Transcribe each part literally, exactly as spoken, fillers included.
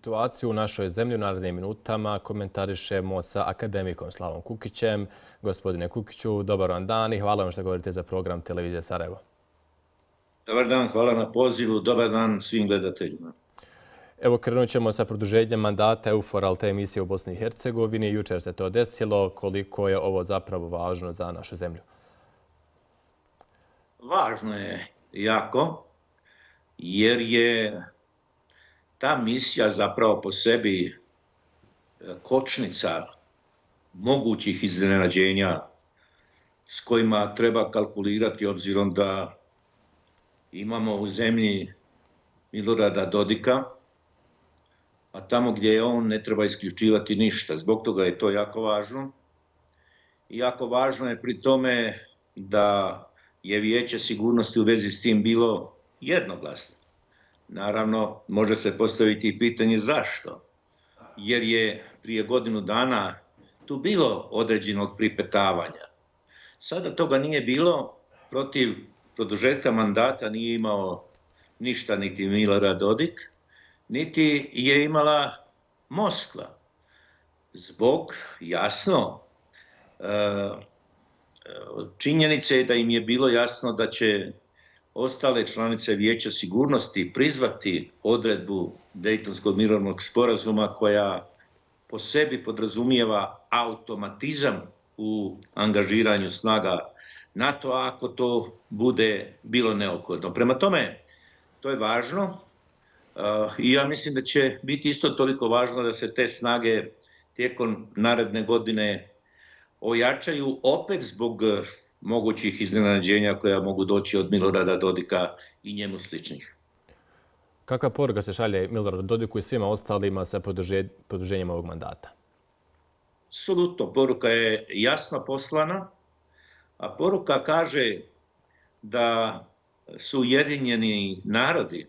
Situaciju u našoj zemlji u narednim minutama komentarišemo sa akademikom Slavom Kukićem. Gospodine Kukiću, dobar vam dan i hvala vam što govorite za program Televizije Sarajevo. Dobar dan, hvala na pozivu, dobar dan svim gledateljima. Evo, krenut ćemo sa produženjem mandata EUFOR-a te emisije u Bosni i Hercegovini. Jučer se to desilo. Koliko je ovo zapravo važno za našu zemlju? Važno je jako, jer je ta misija zapravo po sebi kočnica mogućih iznenađenja s kojima treba kalkulirati obzirom da imamo u zemlji Milorada Dodika, a tamo gdje je on ne treba isključivati ništa. Zbog toga je to jako važno. I jako važno je pri tome da je Vijeće sigurnosti u vezi s tim bilo jednoglasno. Naravno, može se postaviti i pitanje zašto. Jer je prije godinu dana tu bilo određenog pripetavanja. Sada toga nije bilo, protiv produžetka mandata nije imao ništa niti Milorad Dodik, niti je imala Moskva. Zbog, jasno, činjenice je da im je bilo jasno da će ostale članice Vijeća sigurnosti prizvati odredbu Dejtonskog mirovnog sporazuma koja po sebi podrazumijeva automatizam u angažiranju snaga NATO-a ako to bude bilo neophodno. Prema tome, to je važno i ja mislim da će biti isto toliko važno da se te snage tijekom naredne godine ojačaju opet zbog mogućih iznenađenja koja mogu doći od Milorada Dodika i njemu sličnih. Kakva poruka se šalje Miloradu Dodiku i svima ostalima sa produženjem ovog mandata? Apsolutno, poruka je jasno poslana, a poruka kaže da su Ujedinjeni narodi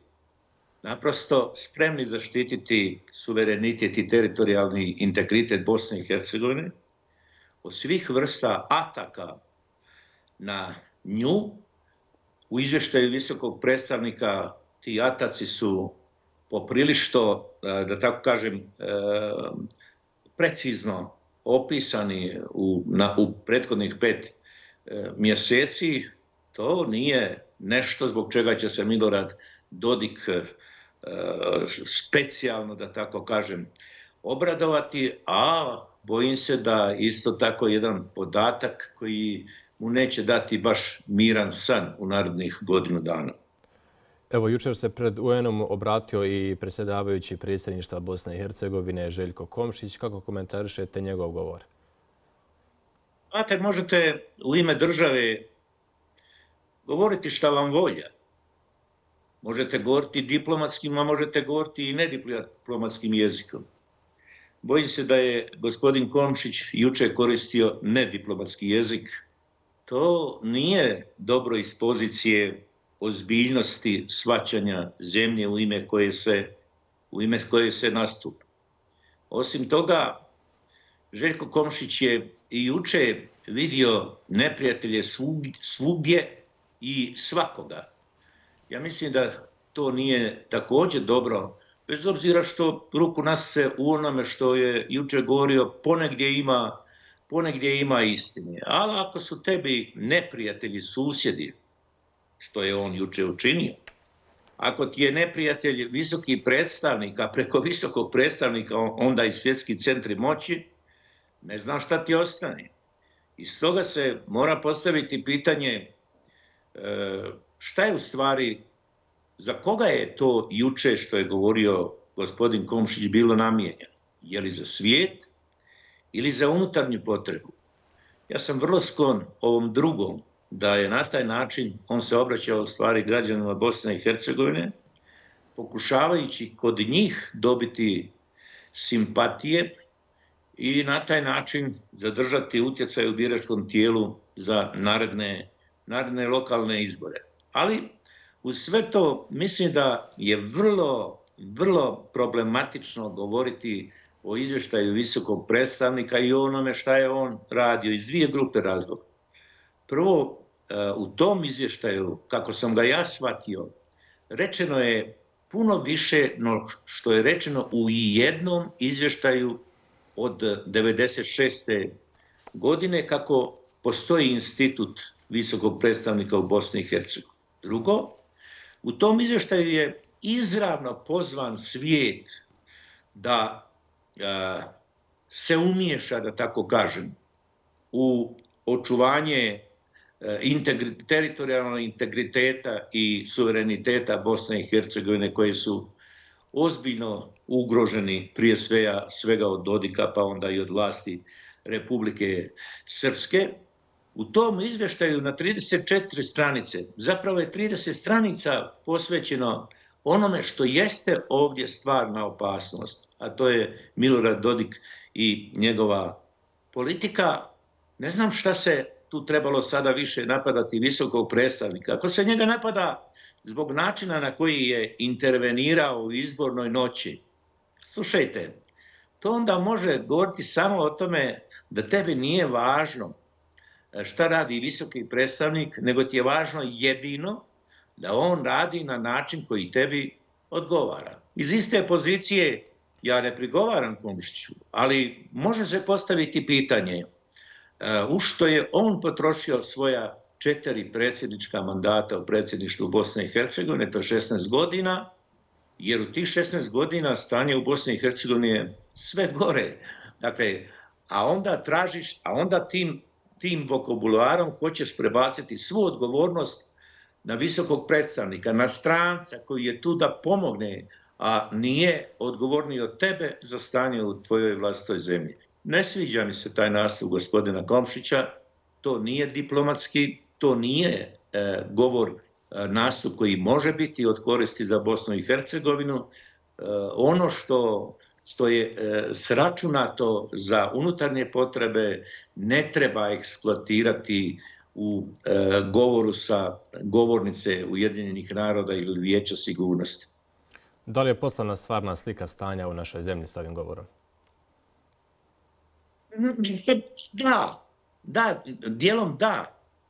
naprosto spremni zaštititi suverenitet i teritorijalni integritet Bosne i Hercegovine od svih vrsta ataka na nju. U izvještaju visokog predstavnika ti ataci su poprilično, da tako kažem, precizno opisani u, na, u prethodnih pet mjeseci. To nije nešto zbog čega će se Milorad Dodik specijalno, da tako kažem, obradovati, a bojim se da isto tako jedan podatak koji mu neće dati baš miran san u narednih godinu dana. Evo, jučer se pred U N-om obratio i predsjedavajući predsjedništva Bosne i Hercegovine Željko Komšić. Kako komentarišete njegov govor? Znate, možete u ime države govoriti šta vam volja. Možete govoriti diplomatskim, a možete govoriti i nediplomatskim jezikom. Bojim se da je gospodin Komšić jučer koristio nediplomatski jezik. To nije dobro iz pozicije ozbiljnosti shvaćanja zemlje u ime koje se, u ime koje se nastupa. Osim toga, Željko Komšić je i jučer vidio neprijatelje svugdje i svakoga. Ja mislim da to nije također dobro, bez obzira što ruku nas se u onome što je jučer govorio ponegdje ima, ponegdje ima istine. Ali ako su tebi neprijatelji susjedi, što je on jučer učinio, ako ti je neprijatelj visoki predstavnik, a preko visokog predstavnika onda i svjetski centri moći, ne znam šta ti ostane. I stoga se mora postaviti pitanje šta je u stvari, za koga je to juče što je govorio gospodin Komšić bilo namijenjeno? Je li za svijet ili za unutarnju potrebu? Ja sam vrlo sklon ovom drugom, da je na taj način on se obraćao u stvari građanima Bosne i Hercegovine, pokušavajući kod njih dobiti simpatije i na taj način zadržati utjecaj u biračkom tijelu za naredne, naredne lokalne izbore. Ali uz sve to mislim da je vrlo, vrlo problematično govoriti o izvještaju visokog predstavnika i onome šta je on radio iz dvije grupe razloga. Prvo, u tom izvještaju, kako sam ga ja shvatio, rečeno je puno više no što je rečeno u jednom izvještaju od devedeset šeste. godine kako postoji institut visokog predstavnika u Bosni i Hercegovini. Drugo, u tom izvještaju je izravno pozvan svijet da a, se umiješa, da tako kažem, u očuvanje integri, teritorijalnog integriteta i suvereniteta Bosne i Hercegovine koji su ozbiljno ugroženi prije svega, svega od Dodika pa onda i od vlasti Republike Srpske. U tom izvještaju na trideset četiri stranice, zapravo je trideset stranica posvećeno onome što jeste ovdje stvarna opasnost, a to je Milorad Dodik i njegova politika. Ne znam šta se tu trebalo sada više napadati visokog predstavnika. Ako se njega napada zbog načina na koji je intervenirao u izbornoj noći, slušajte, to onda može govoriti samo o tome da tebi nije važno šta radi visoki predstavnik, nego ti je važno jedino da on radi na način koji tebi odgovara. Iz iste pozicije ja ne prigovaram Komšiću, ali može se postaviti pitanje u što je on potrošio svoja četiri predsjednička mandata u predsjedništvu Bosne i Hercegovine, to je šesnaest godina, jer u tih šesnaest godina stanje u Bosni i Hercegovini je sve gore. Dakle, a onda tražiš, a onda tim, tim vokabularom hoćeš prebaciti svu odgovornost na visokog predstavnika, na stranca koji je tu da pomogne, a nije odgovorniji od tebe za stanje u tvojoj vlastitoj zemlji. Ne sviđa mi se taj nastup gospodina Komšića, to nije diplomatski, to nije e, govor, e, nastup koji može biti od koristi za Bosnu i Hercegovinu. E, ono što, što je e, sračunato za unutarnje potrebe ne treba eksploatirati u e, govoru sa govornice Ujedinjenih naroda ili Vijeća sigurnosti. Da li je poslana stvarna slika stanja u našoj zemlji s ovim govorom? Da, da, dijelom da,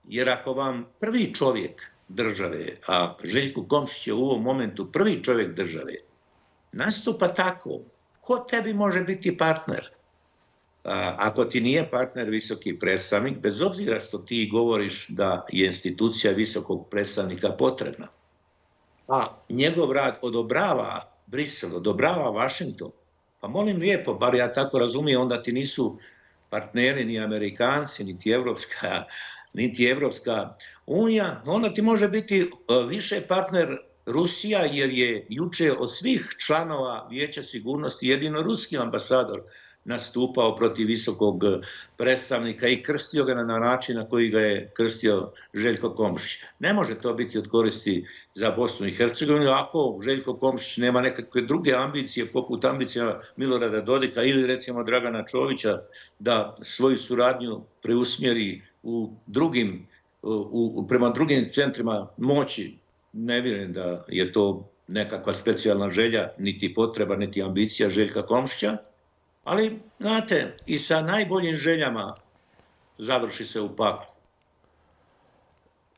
jer ako vam prvi čovjek države, a Željko Komšić je u ovom momentu prvi čovjek države, nastupa tako, ko tebi može biti partner? A, ako ti nije partner visoki predstavnik, bez obzira što ti govoriš da je institucija visokog predstavnika potrebna, a njegov rad odobrava Brisel, odobrava Washington, pa molim lijepo, bar ja tako razumijem, onda ti nisu partneri ni Amerikanci, niti Evropska, niti Evropska unija, onda ti može biti više partner Rusija, jer je juče od svih članova Vijeća sigurnosti jedino ruski ambasador nastupao protiv visokog predstavnika i krstio ga na način na koji ga je krstio Željko Komšić. Ne može to biti od koristi za Bosnu i Hercegovinu ako Željko Komšić nema nekakve druge ambicije poput ambicija Milorada Dodika ili recimo Dragana Čovića da svoju suradnju preusmjeri u drugim, u, prema drugim centrima moći. Ne vjerujem da je to nekakva specijalna želja, niti potreba, niti ambicija Željka Komšića. Ali, znate, i sa najboljim željama završi se u paklu.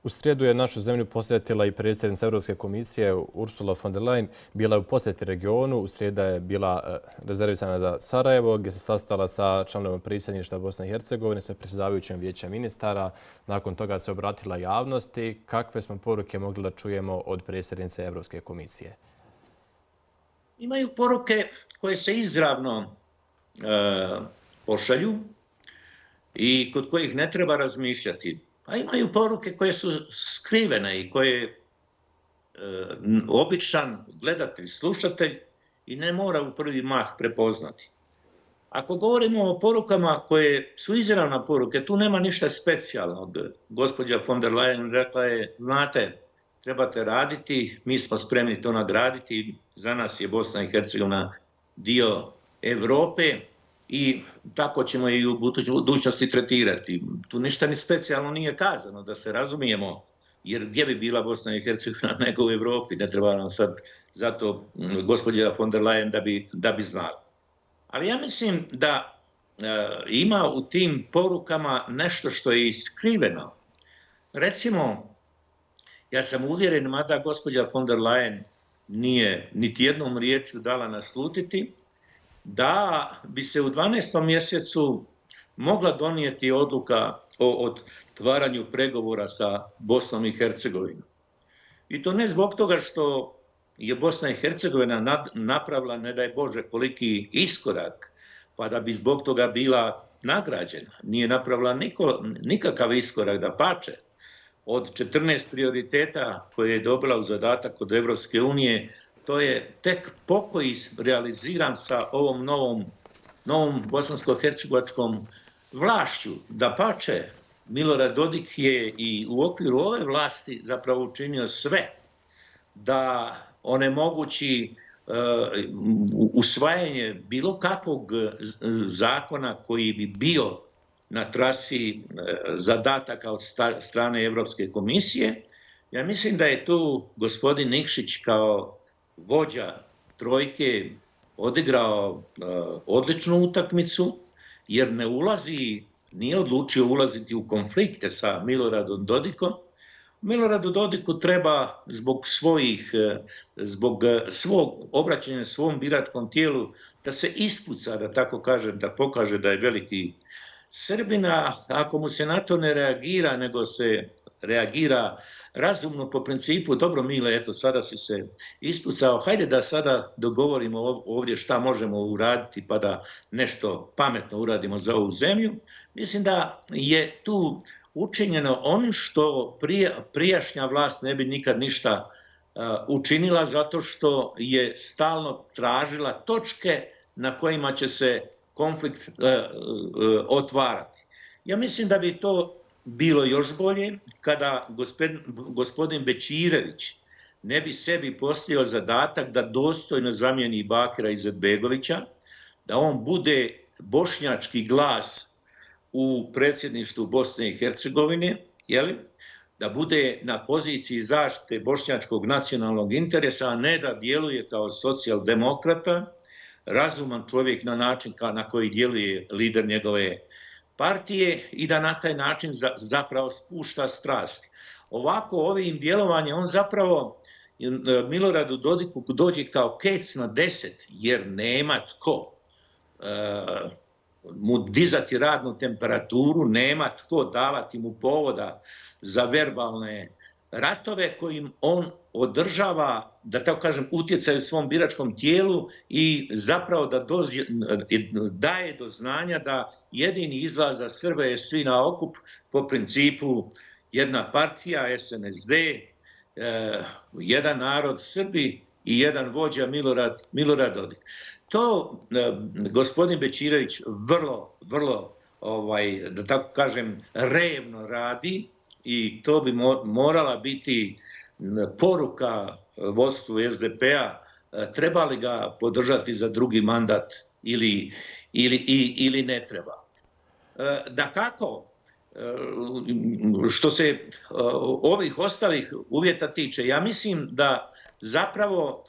U srijedu je našu zemlju posjetila i predsjednica Europske komisije Ursula von der Leyen. Bila je u posjeti regionu. U srijeda je bila rezervisana za Sarajevo, gdje se sastala sa članom predsjedništva Bosne i Hercegovine, sa predsjedavajućem vijeća ministara. Nakon toga se obratila javnosti. Kakve smo poruke mogli da čujemo od predsjednice Europske komisije? Imaju poruke koje se izravno e, pošalju i kod kojih ne treba razmišljati. A imaju poruke koje su skrivene i koje e, običan gledatelj, slušatelj i ne mora u prvi mah prepoznati. Ako govorimo o porukama koje su izravna poruke, tu nema ništa specijalnog. Gospođa von der Leyen rekla je, znate, trebate raditi, mi smo spremni to nagraditi, za nas je Bosna i Hercegovina dio Evrope i tako ćemo i u budućnosti tretirati. Tu ništa ni specijalno nije kazano, da se razumijemo, jer gdje bi bila Bosna i Hercegovina nego u Evropi, ne treba nam sad zato gospođa von der Leyen da bi, da bi znala. Ali ja mislim da e, ima u tim porukama nešto što je iskriveno. Recimo, ja sam uvjeren, mada gospođa von der Leyen nije niti jednom riječju dala naslutiti, da bi se u dvanaestom mjesecu mogla donijeti odluka o otvaranju pregovora sa Bosnom i Hercegovinom. I to ne zbog toga što je Bosna i Hercegovina napravila, ne daj Bože, koliki iskorak, pa da bi zbog toga bila nagrađena. Nije napravila niko, nikakav iskorak, da pače. Od četrnaest prioriteta koje je dobila u zadatak od Evropske unije, to je tek pokoj realiziran sa ovom novom, novom bosansko-hercegovačkom vlašću. Da pače, Milorad Dodik je i u okviru ove vlasti zapravo učinio sve da onemogući uh, usvajanje bilo kakvog zakona koji bi bio na trasi uh, zadataka od strane Evropske komisije. Ja mislim da je tu gospodin Nikšić kao vođa trojke odigrao uh, odličnu utakmicu, jer ne ulazi, nije odlučio ulaziti u konflikte sa Miloradom Dodikom. Miloradu Dodiku treba zbog svojih, zbog svog obraćanja svom biračkom tijelu da se ispuca, da tako kažem, da pokaže da je veliki Srbina. Ako mu se na to ne reagira, nego se reagira razumno po principu, dobro Mile, eto sada si se ispucao, hajde da sada dogovorimo ovdje šta možemo uraditi pa da nešto pametno uradimo za ovu zemlju. Mislim da je tu učinjeno ono što prijašnja vlast ne bi nikad ništa učinila, zato što je stalno tražila točke na kojima će se konflikt otvarati. Ja mislim da bi to bilo još bolje kada gospodin Bećirević ne bi sebi postavio zadatak da dostojno zamijeni Bakira Izetbegovića, da on bude bošnjački glas u predsjedništvu Bosne i Hercegovine, da bude na poziciji zaštite bošnjačkog nacionalnog interesa, a ne da djeluje kao socijaldemokrata, razuman čovjek na način na koji djeluje lider njegove partije i da na taj način zapravo spušta strasti. Ovako, ovim djelovanjem, on zapravo Miloradu Dodiku dođe kao kec na deset, jer nema tko mu dizati radnu temperaturu, nema tko davati mu povoda za verbalne ratove kojim on održava, da tako kažem, utjecaj u svom biračkom tijelu i zapravo da dođe, daje do znanja da jedini izlaz za Srbe je svi na okup po principu jedna partija, S N S D, eh, jedan narod Srbi i jedan vođa Milorad, Milorad Dodik. To eh, gospodin Bećirević vrlo, vrlo, ovaj, da tako kažem, revno radi i to bi morala biti poruka vodstvu S D P-a, treba li ga podržati za drugi mandat ili, ili, ili ne treba. Da kako, što se ovih ostalih uvjeta tiče, ja mislim da zapravo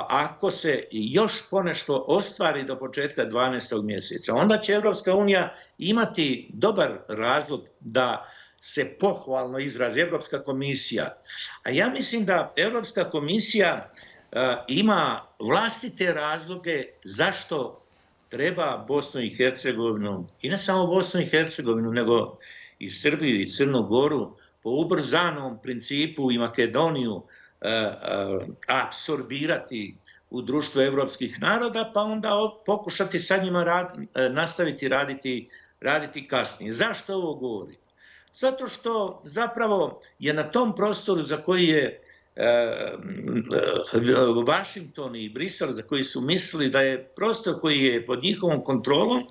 ako se još ponešto ostvari do početka dvanaestog mjeseca, onda će Evropska unija imati dobar razlog da se pohvalno izrazi Evropska komisija. A ja mislim da Evropska komisija uh, ima vlastite razloge zašto treba Bosnu i Hercegovinu, i ne samo Bosnu i Hercegovinu, nego i Srbiju i Crnu Goru, po ubrzanom principu i Makedoniju uh, uh, apsorbirati u društvo evropskih naroda, pa onda pokušati sa njima rad, uh, nastaviti raditi, raditi kasnije. Zašto ovo govorim? Zato što zapravo je na tom prostoru za koji je Vašington i Brisel, za koji su mislili da je prostor koji je pod njihovom kontrolom,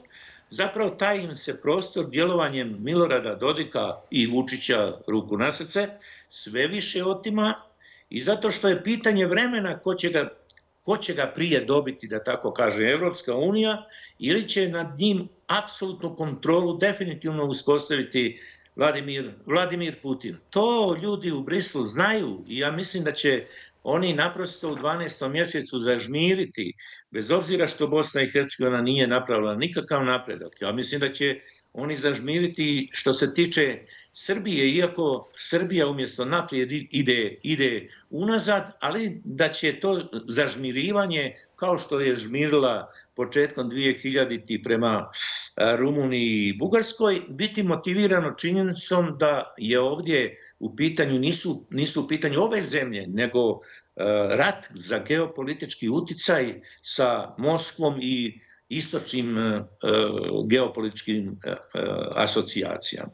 zapravo taj im se prostor djelovanjem Milorada Dodika i Vučića, ruku na srce, sve više otima i zato što je pitanje vremena ko će ga, ko će ga prije dobiti, da tako kaže Evropska unija, ili će nad njim apsolutnu kontrolu definitivno uspostaviti Vladimir, Vladimir Putin. To ljudi u Briselu znaju i ja mislim da će oni naprosto u dvanaestom mjesecu zažmiriti, bez obzira što Bosna i Hercegovina nije napravila nikakav napredak. Ja mislim da će oni zažmiriti što se tiče Srbije, iako Srbija umjesto naprijed ide, ide unazad, ali da će to zažmirivanje, kao što je žmirila početkom dvije hiljadite prema Rumuniji i Bugarskoj, biti motivirano činjenicom da je ovdje u pitanju, nisu, nisu u pitanju ove zemlje, nego rat za geopolitički uticaj sa Moskvom i istočnim geopolitičkim asocijacijama.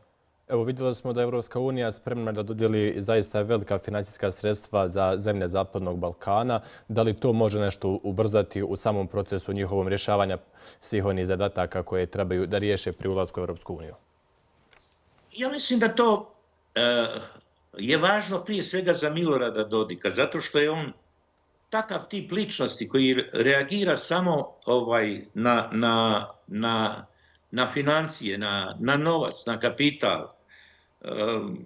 Evo, vidjeli smo da je Evropska unija spremna da dodijeli zaista velika financijska sredstva za zemlje Zapadnog Balkana. Da li to može nešto ubrzati u samom procesu njihovom rješavanja svih onih zadataka koje trebaju da riješe pri ulasku u Evropsku uniju? Ja mislim da to e, je važno prije svega za Milorada Dodika, zato što je on takav tip ličnosti koji reagira samo ovaj, na, na, na, na financije, na, na novac, na kapital. E,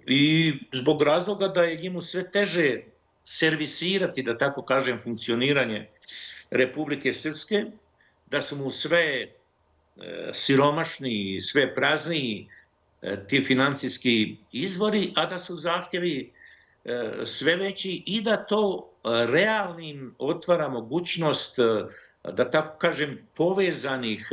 I zbog razloga da je njemu sve teže servisirati, da tako kažem, funkcioniranje Republike Srpske, da su mu sve e, siromašni, sve prazniji e, ti financijski izvori, a da su zahtjevi e, sve veći i da to realnim otvara mogućnost, da tako kažem, povezanih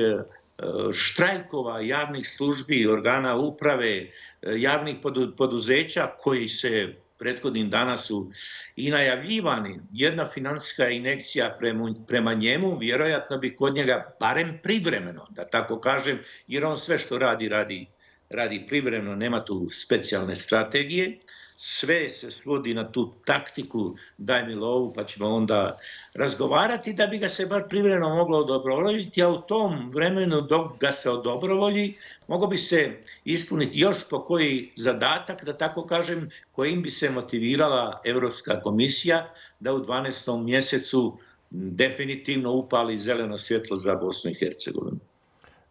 štrajkova javnih službi, organa uprave, javnih poduzeća koji se prethodnim dana su i najavljivani. Jedna finansijska injekcija prema, prema njemu vjerojatno bi kod njega barem privremeno, da tako kažem, jer on sve što radi, radi, radi privremeno, nema tu specijalne strategije. Sve se svodi na tu taktiku daj mi lovu pa ćemo onda razgovarati da bi ga se bar privremeno moglo odobrovoljiti, a u tom vremenu dok ga se odobrovolji mogao bi se ispuniti još po koji zadatak, da tako kažem, kojim bi se motivirala Evropska komisija da u dvanaestom mjesecu definitivno upali zeleno svjetlo za Bosnu i Hercegovinu.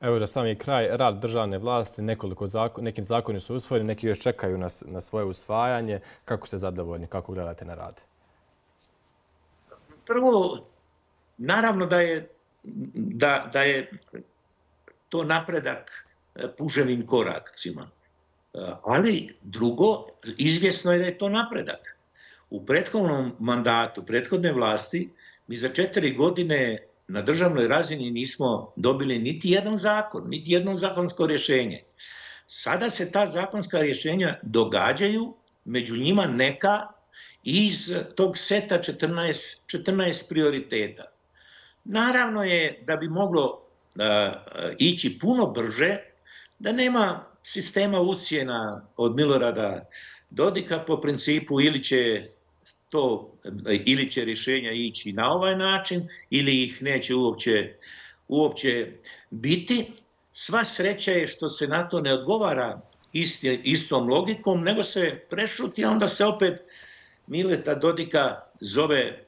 Evo za sami kraj, rad državne vlasti, nekoliko zakon, neki zakoni su usvojeni, neki još čekaju na, na svoje usvajanje. Kako ste zadovoljni, kako gledate na rad? Prvo, naravno da je, da, da je to napredak puževim korakcima. Ali drugo, izvjesno je da je to napredak. U prethodnom mandatu, prethodne vlasti, mi za četiri godine na državnoj razini nismo dobili niti jedan zakon, niti jedno zakonsko rješenje. Sada se ta zakonska rješenja događaju, među njima neka iz tog seta četrnaest, četrnaest prioriteta. Naravno je da bi moglo uh, ići puno brže, da nema sistema ucjena od Milorada Dodika po principu ili će to, ili će rješenja ići na ovaj način, ili ih neće uopće, uopće biti. Sva sreća je što se na to ne odgovara isti, istom logikom, nego se prešuti, a onda se opet Mileta Dodika zove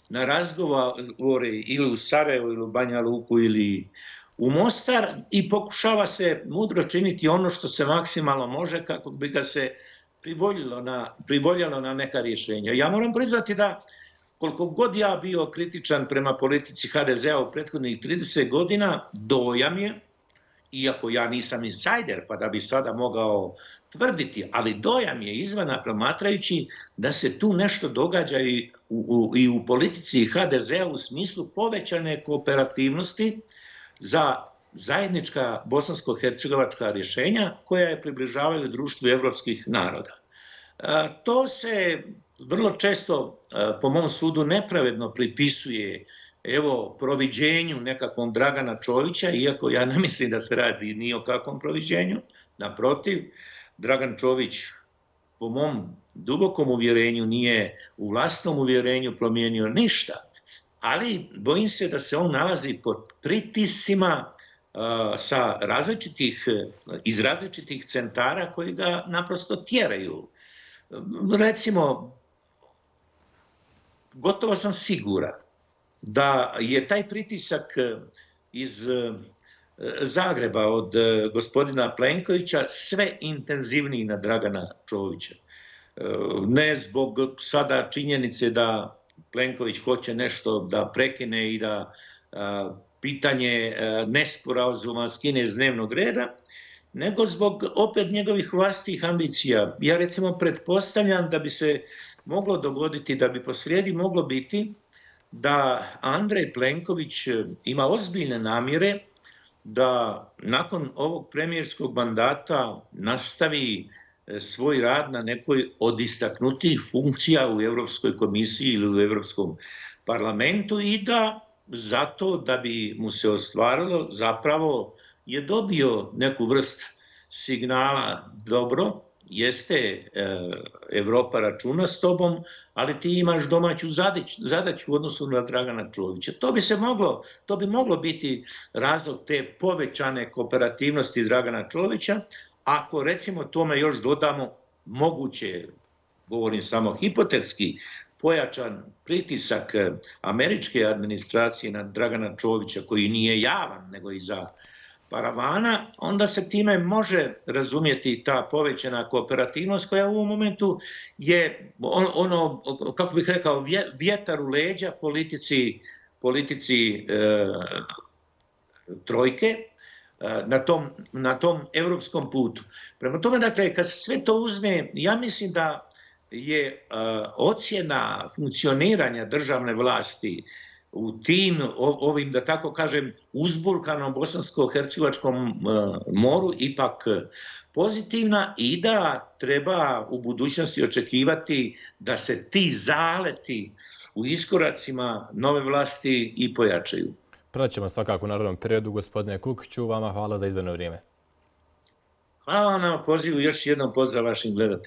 na razgovore ili u Sarajevo, ili u Banja Luku, ili u Mostar i pokušava se mudro činiti ono što se maksimalno može kako bi ga se privoljilo na, privoljalo na neka rješenja. Ja moram priznati da koliko god ja bio kritičan prema politici ha de zea u prethodnih trideset godina, dojam je, iako ja nisam insajder pa da bi sada mogao tvrditi, ali dojam je izvana promatrajući da se tu nešto događa i u, u, i u politici ha de zea u smislu povećane kooperativnosti za zajednička bosansko-hercegovačka rješenja koja je približavaju društvu evropskih naroda. E, to se vrlo često, e, po mom sudu, nepravedno pripisuje evo, proviđenju nekakvom Dragana Čovića, iako ja ne mislim da se radi ni o kakvom proviđenju. Naprotiv, Dragan Čović, po mom dubokom uvjerenju, nije u vlastnom uvjerenju promijenio ništa, ali bojim se da se on nalazi pod pritiscima sa različitih, iz različitih centara koji ga naprosto tjeraju. Recimo, gotovo sam siguran da je taj pritisak iz Zagreba od gospodina Plenkovića sve intenzivniji na Dragana Čovića. Ne zbog sada činjenice da Plenković hoće nešto da prekine i da pitanje nesporazuma skine iz dnevnog reda, nego zbog opet njegovih vlastitih ambicija. Ja recimo pretpostavljam da bi se moglo dogoditi, da bi posrijedi moglo biti da Andrej Plenković ima ozbiljne namjere da nakon ovog premijerskog mandata nastavi svoj rad na nekoj od istaknutijih funkcija u Europskoj komisiji ili u Europskom parlamentu i da zato da bi mu se ostvarilo zapravo je dobio neku vrst signala dobro, jeste Evropa računa s tobom, ali ti imaš domaću zadaću u odnosu na Dragana Čovića. To bi se moglo, to bi moglo biti razlog te povećane kooperativnosti Dragana Čovića, ako recimo tome još dodamo moguće, govorim samo hipotetski, pojačan pritisak američke administracije na Dragana Čovića, koji nije javan, nego i za paravana, onda se time može razumjeti ta povećana kooperativnost koja u ovom momentu je ono, kako bih rekao, vjetar u leđa politici, politici e, trojke na tom, na tom evropskom putu. Prema tome, dakle, kad se sve to uzme, ja mislim da je uh, ocjena funkcioniranja državne vlasti u tim, ovim, da tako kažem, uzburkanom bosansko-hercegovačkom uh, moru ipak pozitivna i da treba u budućnosti očekivati da se ti zaleti u iskoracima nove vlasti i pojačaju. Praćemo svakako u narodnom periodu. Gospodine Kukiću, vama hvala za izdvojeno vrijeme. Hvala vam na pozivu, još jednom pozdrav vašim gledateljima.